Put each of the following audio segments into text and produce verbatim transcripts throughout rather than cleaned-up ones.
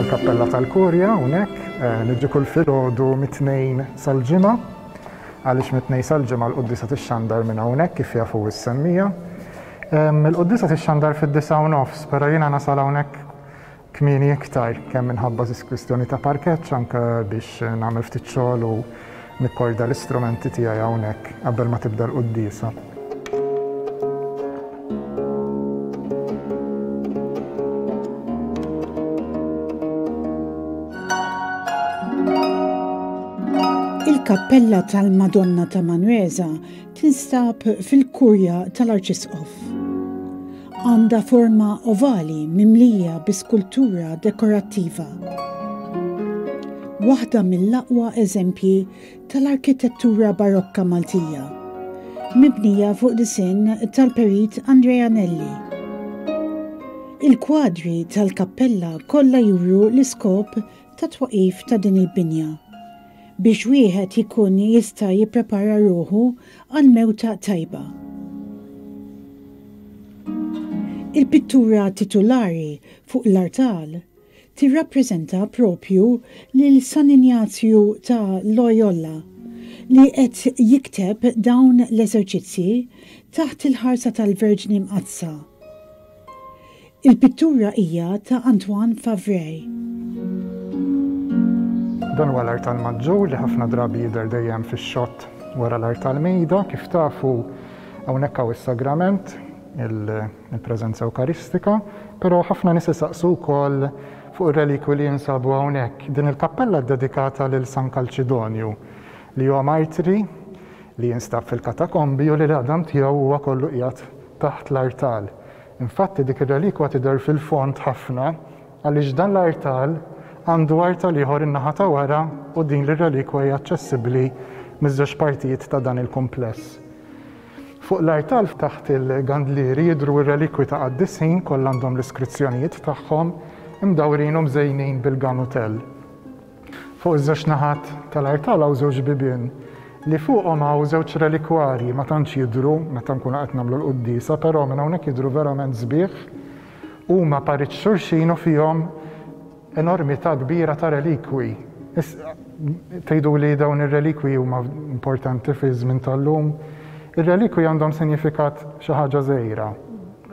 Din hija l-kappella tal-Kurja hawnhekk, niġi kull filgħodu mit-Tnejn sal-Ġimgħa, għaliex mit-Tnejn sal-Ġimgħa l-quddiesa tixxandar minn hawnhekk kif jafu s-semmija. Il-quddiesa tixxandar fid-disgħa u nofs, però jiena nasal hawnhekk kmieni iktar, kemm minħabba kwistjoni ta' parkeġġ, anke biex nagħmel ftit xogħol u nikkorda l-istrumenti tiegħi hawnhekk qabel ma tibda l-quddiesa. Il-kappella tal-Madonna ta' Manresa tinstab fil-Kurja tal-Arċisqof. Għandha forma ovali mimlija bi skultura dekorattiva. Waħda mill-aqwa eżempji tal-arkitettura barokka Maltija, mibnija fuq disinn tal-perit Andrea Nelli. Il-kwadri tal-kappella kollha juru l-iskop ta' twaqif ta' din il-binja, biex wieħed jkun jista' jipprepara ruħu għal mewta tajba. Il-pittura titulari fuq l-artal tirrappreżenta propju lil San Injazju ta' Loyola li qed jikteb dawn l-eżerċizzji taħt il-ħarsa tal-Verġni Mqaddsa. Il-pittura hija ta' Antoine Favray. Dan huwa l-artal maġġur li ħafna drabi jidher dejjem fix-xott wara l-artal mejda. Kif tafu hawnhekk hawn is-sagrament, il-preżenza Ewkaristika, però ħafna nies isaqsu wkoll fuq ir-relikwi li jinsabu hawnhekk. Din il-kappella ddedikata lil San Kalċidonju, li huwa martri li jinstab fil-katakombi u li l-għadam tiegħu huwa kollu qiegħed taħt l-artal. Infatti dik ir-relikwa tidher fil-fond ħafna għaliex dan l-artal għandu artal ieħor in-naħa ta' wara u din l-relikwa hija aċċessibbli miż-żewġ partijiet ta' dan il-kumpless. Fuq l-artal taħt il-gandlieri jidhru r-relikwi ta' qaddisin kollha għandhom l-iskrizzjonijiet tagħhom imdawrin u mżejnin bil-ganutell. Fuq iż-żewġ naħat tal-artal hawn żewġ bibien li fuqhom hawn żewġ relikwarji ma tantx jidhru meta nkunu qed nagħmlu l-quddiesa, però minn hawnhekk jidhru verament sbieħ. Huma parit xulxin u fihom enormità kbira ta' relikwi. Tgħidu li dawn ir-relikwi huma importanti fi żmien tal-lum. Ir-relikwi għandhom sinifikat xi ħaġa żgħira,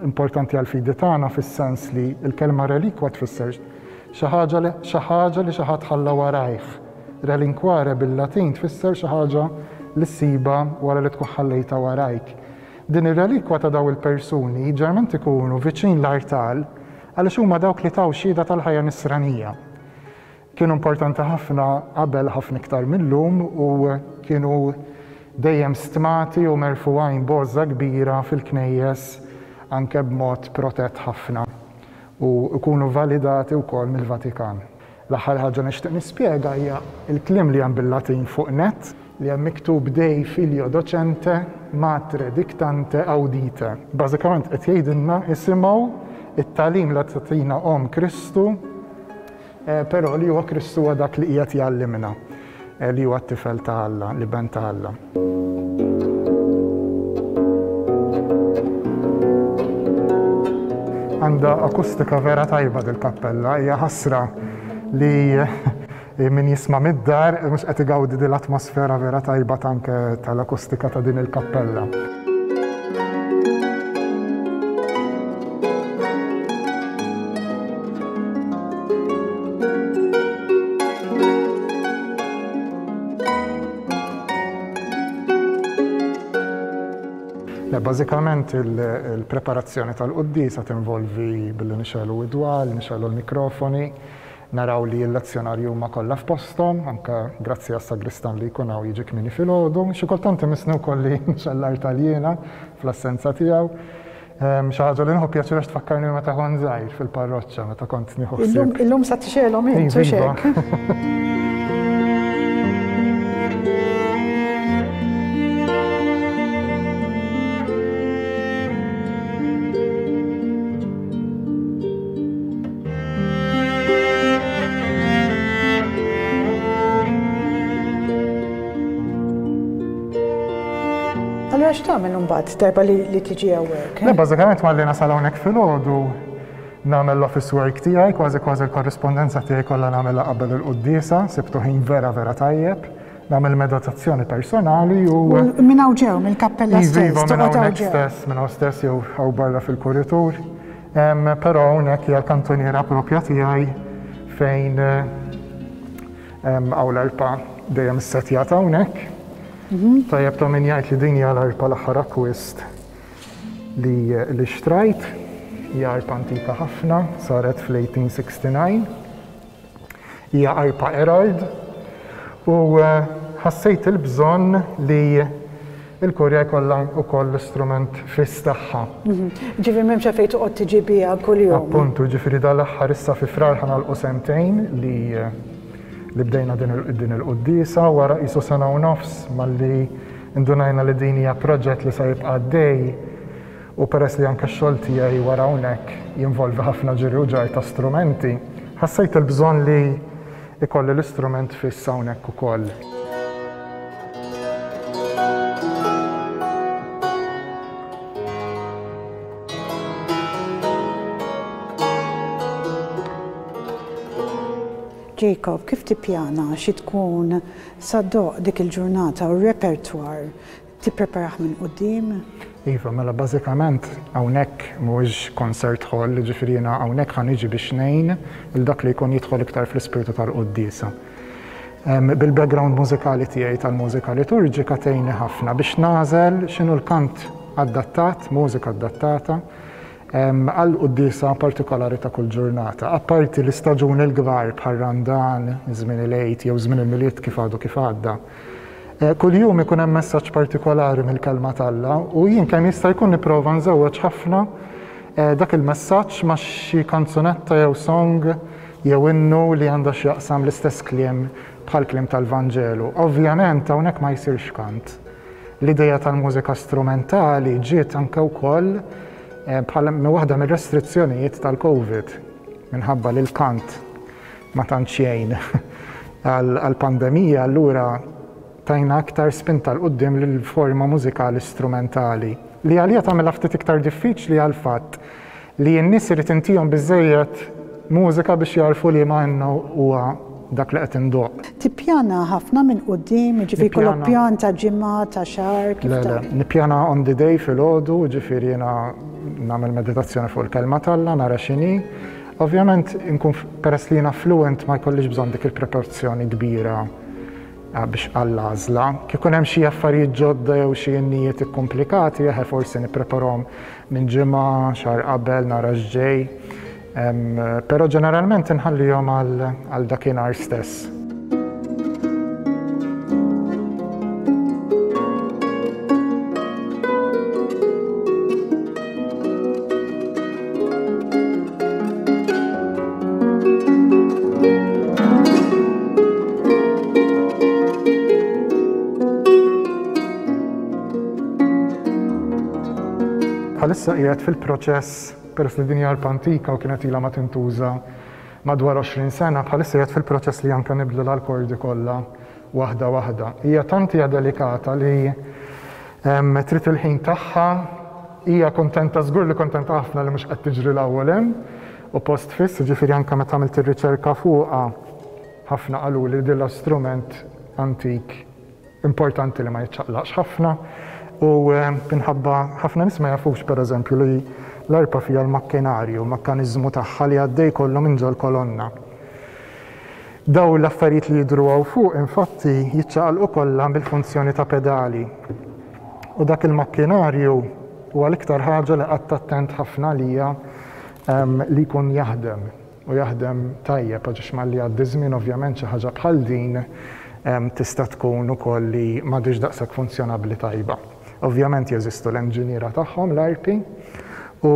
importanti għall-fidi tagħna fis-sens li l-kelma relikwa tfisser xi ħaġa li xi ħaġa li xi ħadd ħalla warajh. Relinquare bil-Latin tfisser xi ħaġa li ssiba wara li tkun ħallejta warajk. Din ir-relikwa ta' daw il-persuni ġerment ikunu viċin l-artal għaliex huma dawk li taw xhieda tal-ħajja nisranija. Kienu importanti ħafna qabel ħafna iktar mill-lum u kienu dejjem stmati u merfugħin b'għożża kbira fil-knejjes anke b'mod protett ħafna u jkunu validati wkoll mill-Vatikan. L-aħħar ħaġa nixtieq nispjega hija l-kliem li hemm bil-Latin fuq net li hemm miktub Dei filio docente matre dictante audite. Bażikament qed jgħidilna isimgħu it-tagħlim li tagħtina Omm Kristu, però li huwa Kristu huwa dak li qiegħed jgħallimna, li huwa t-tifel ta' Alla, l-iben ta' Alla. Għandha akustika vera tajba dil-kappella, hija ħasra li min jisma' mid-dar mhux qed igawdi din l-atmosfera vera tajba anke tal-akustika ta' din il-kappella. Bażikament il-preparazzjoni tal-quddiesa tinvolvi billi nixegħlu id-dwal, nixegħlu l-mikrofoni, naraw li l-lezzjonarju huma kollha f'posthom, anke grazzi għas-sagristan li jkun hawn jiġi kmieni filgħodu. Xi kultant imissni wkoll li nixgħel l-artal jiena fl-assenza tiegħu. Xi ħaġa li nieħu pjaċir għax tfakkarni meta kont żgħir fil-parroċċa, meta kont nieħu ħsieb. Illum sa tixgħelhom int, u x'hekk. Allura x'tagħmel imbagħad darba li tiġi hawnhekk? Le, bażikament malli nasal hawnhekk filgħodu Nagħmel l-office work tiegħi, kważi kważi l-korrispondenza tiegħi kollha nagħmilha qabel il-quddiesa, sibtu ħin vera vera tajjeb. Nagħmel meditazzjoni personali u Minn hawn ġew, mill-kappella stess. Iva, minn hawnhekk stess, minn hawn stess jew hawn barra fil-kuritur. Però hawnhekk hija l-kantuniera propja tiegħi fejn hawn l-arpa dejjem issettjata hawnhekk. Tajjeb ta' min jgħid li din hija l-arpa l-aħħar akkwist li xtrajt. Hija arpa antika ħafna, saret fl-eighteen sixty-nine. Hija arpa Erard u ħassejt il-bżonn li il-kurja jkollha wkoll l-istrument fiss tagħha. Ġifieri m'hemmx għalfejn toqgħod tiġi biha kuljum. Appuntu, ġifieri dal-aħħar issa fi Frar ħanalqu sentejn li, li bdejna din il-quddiesa, wara qisu sena u nofs malli indunajna li din hija proġett li se jibqa' għaddej. U peress li anke x-xogħol tiegħi wara hawnhekk jinvolvi ħafna ġiri u ġar ta' strumenti, ħassejt il-bżonn li ikolli l-istrument fiss hawnhekk ukoll. Jacob, kif tippjana xi tkun saddoq dik il-ġurnata u r-repertwar tippreparah minn quddiem? Iva, mela bażikament hawnhekk mhuwiex concert hall, jiġifieri jiena hawnhekk ħa niġi biex ngħin il dak li jkun jidħol iktar fl-ispirtu tal-quddiesa. Bil-background mużikali tiegħi tal-mużika liturġika tgħinni ħafna biex nagħżel x'inhu l-kant adattat, mużika adattata għal quddiesa partikolari ta' kull ġurnata. Apparti l-istaġuni l-kbar bħal Randan, żmien il-Għid jew żmien il-Milied kif għadu kif għadda. Kuljum ikun hemm messaġġ partikolari mill-kelma t'Alla u jien kemm jista' jkun nipprova nżewweġ ħafna dak il-messaġġ ma' xi kanzunetta jew song jew innu li għandha x'jaqsam l-istess kliem bħal kliem tal-Vanġelu. Ovvjament hawnhekk ma jsirx kant. L-idea tal-mużika strumentali ġiet anke wkoll bħala waħda mir-restrizzjonijiet tal-Covid minħabba li l-kant ma tantx jgħin għall-pandemija, allura tajna aktar spinta l quddiem lill-forma mużikali strumentali li għalija tagħmilha ftit iktar diffiċli għal fatt li n-nies irid intihom biżżejjed mużika biex jarfu li ma innu huwa dak li qed indoq. Tippjana ħafna minn quddiem, jiġifieri jkollok pjan ta' ġimgħa, ta' xahar, kif Le, le, nippjana on the day filgħodu, jiġifieri jiena nagħmel meditazzjoni fuq il-kelma t'Alla, nara x'inhi. Ovvjament inkun peress li jiena fluent ma jkollix bżonn dik il-preparazzjoni kbira biex għall-għażla. Kif ikun hemm xi affarijiet ġodda jew xi innijiet ikkomplikati, eħe forsi nippreparahom minn ġimgħa, xahar qabel, nara x'ġej. Però ġeneralment inħallihom għal dakinhar stess. Bħalissa qiegħed fil-proċess, peress li din hija arpa antika u kienet ilha ma tintuża madwar għoxrin sena, bħalissa qiegħed fil-proċess li anke nibdlu l-kordi kollha waħda waħda. Hija tant hija delikata li trid il-ħin tagħha, hija kontenta, żgur li kontenta ħafna li mhux qed tiġri l-ewwel hemm u post fiss, jiġifieri anke meta għamilt ir-riċerka fuqha ħafna qalu li din l-istrument antik importanti li ma jiċċaqlaqx ħafna. U minħabba ħafna nies ma jafux pereżempju li l-arpa fija l-makkinarju, l-mekkaniżmu tagħha li għaddej kollu minn ġol kolonna. Daw l-affarijiet li jidhru hawn fuq infatti jiċċaqalqu kollha bil-funzjoni ta' pedali. U dak il-makkinarju huwa l-iktar ħaġa li qatt attent ħafna għalija li jkun jaħdem u jaħdem tajjeb għax malli jgħaddi żmien ovvjament xi ħaġa bħal din tista' tkun ukoll li m'għadix daqshekk funzjonabbli tajba. Ovvjament jeżistu l-enġiniera tagħhom l-arpi u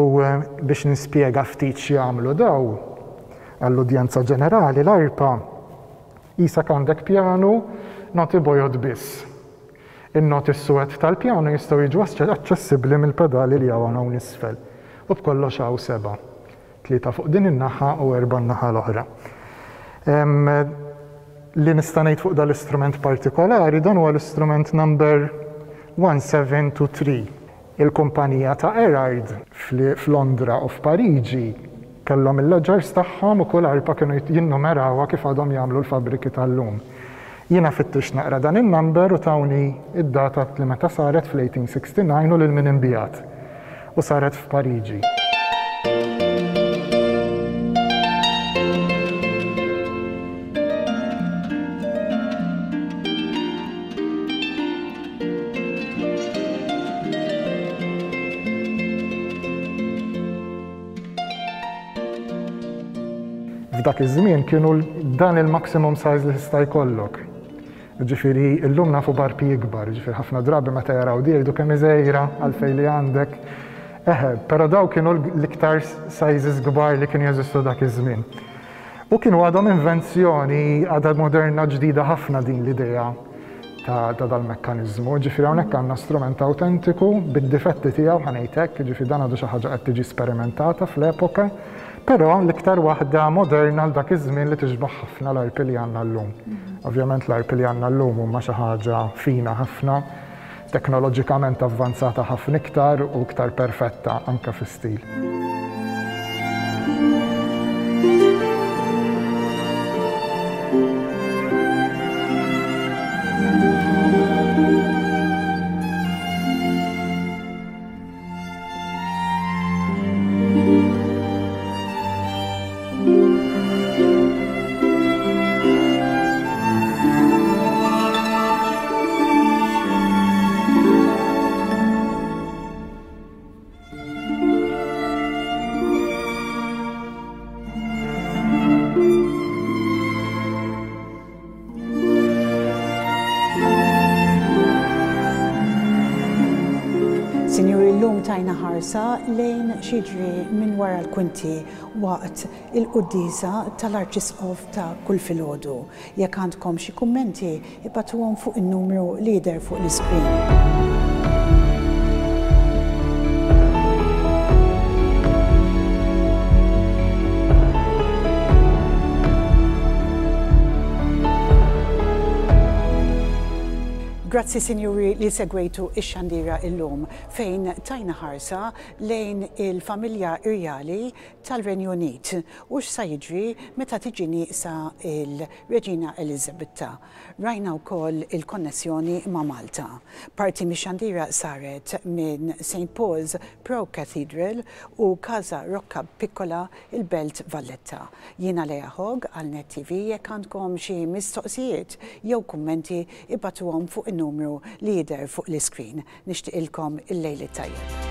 biex nispjega ftit x'jagħmlu daw għall-udjenza ġenerali, l-arpa qisek għandek pjanu noti bojod biss. In-noti s-suwed tal-pjanu jistgħu jiġu aċċessibbli mill-pedali li hawn hawn isfel. U b'kollox hawn seba', tlieta fuq din in-naħa u erba' n-naħa l-oħra. Li nista' ngħid fuq dal-istrument partikolari, dan huwa l-istrument number one seven two three. Il-kumpanija ta' Erard fl-Londra u f'Pariġi Kellhom il-ledgers tagħhom u kull arpa kienu jinnumerawha kif għadhom jagħmlu l-fabriki tal-lum. Jiena fittixt naqra dan in-number u tawni id-data li meta saret fl-eighteen sixty-nine u lil min inbijat. U saret f'Pariġi. F'dak iż-żmien kienu dan il-maximum size li tista' jkollok. Ġifieri llum nafu barpi ikbar, ġifieri ħafna drabi meta jaraw di jgħidu kemm iżgħira għalfejn li għandek. Eħe, però daw kienu l-iktar sizes kbar li kienu jeżistu dak iż-żmien. U kienu għadhom invenzjoni għadha moderna ġdida ħafna din l-idea ta', ta' dal-mekkaniżmu. Ġifieri hawnhekk għandna strument autentiku bid-difetti tiegħu ħa ngħid hekk, ġifieri dan għadu xi ħaġa qed tiġi sperimentata fl-epoka, però l-iktar waħda moderna għal dak iż-żmien li tixbaħ ħafna l-arpi li għandna llum. Ovvjament l-arpi li għandna llum huma xi ħaġa fina ħafna, teknoloġikament avvanzata ħafna iktar u iktar perfetta anke fi-stil. Sinjuri, llum tajna ħarsa lejn x'jiġri minn wara l-kwinti waqt il-quddiesa tal-Arċisqof ta' kull filgħodu. Jekk għandkom xi kummenti, ibagħtuhom fuq in-numru li jidher fuq l-iskrin. Grazzi sinjuri li segwejtu ix-xandira illum fejn tajna ħarsa lejn il-familja irjali tal-Renju Unit u x'sa jiġri meta tiġi nieqsa il-Reġina Eliżabetta. Rajna wkoll il-konnessjoni ma' Malta. Parti mix-xandira saret minn Saint Paul's Pro Cathedral u Casa Rocca Piccola il-Belt Valletta. Jiena Lea Hogg għal Net T V, jekk għandkom xi mistoqsijiet jew kummenti ibagħtuhom fuq in-numru li jidher fuq l-iskrin. Nixtieqilkom il-lejl it-tajjeb.